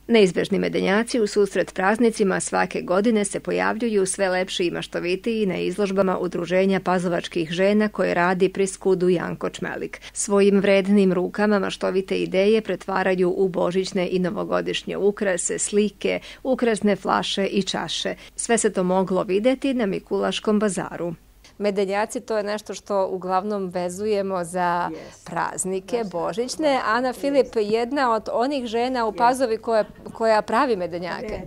Neizbežni medenjaci u susret praznicima svake godine se pojavljuju sve lepši i maštovitiji na izložbama Udruženja pazovačkih žena koje radi pri Skudu Janko Čmelik. Svojim vrednim rukama maštovite ideje pretvaraju u božićne i novogodišnje ukrase, slike, ukrasne flaše i čaše. Sve se to moglo videti na Mikulaškom bazaru. Medenjaci, to je nešto što uglavnom vezujemo za praznike božićne. Ana Filip, jedna od onih žena u Pazovi koja pravi medenjake.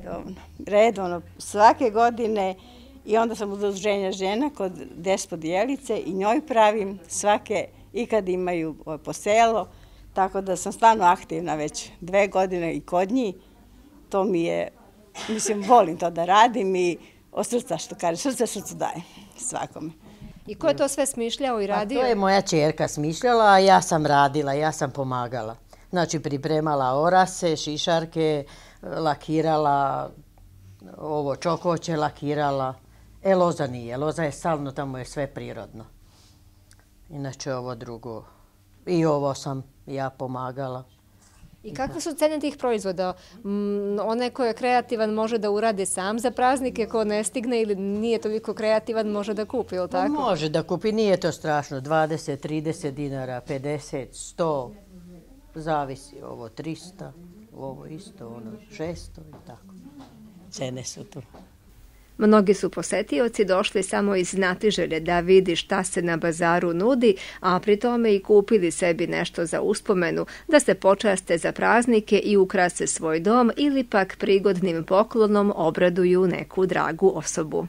Redovno, svake godine, i onda sam udruženja žena kod Despot Jelice i njoj pravim svake, i kad imaju po selo, tako da sam stvarno aktivna već 2 godine i kod njih. To mi je, mislim, volim to da radim i od srca, što kaže, srce srcu daje svakome. I ko je to sve smišljao i radio? To je moja ćerka smišljala, a ja sam radila, ja sam pomagala. Znači, pripremala orase, šišarke, lakirala, ovo čokoće lakirala. Loza nije, loza je salno, tamo je sve prirodno. Inače, ovo drugo. I ovo sam ja pomagala. I kakve su cene tih proizvoda? Onaj ko je kreativan može da uradi sam za praznike, ko ne stigne ili nije toliko kreativan može da kupi, ili tako? Može da kupi, nije to strašno. 20, 30 dinara, 50, 100, zavisi. Ovo 300, ovo isto, ono 600 i tako. Cene su tu. Mnogi su posetioci došli samo iz znatiželje da vidi šta se na bazaru nudi, a pri tome i kupili sebi nešto za uspomenu, da se počaste za praznike i ukrase svoj dom ili pak prigodnim poklonom obraduju neku dragu osobu.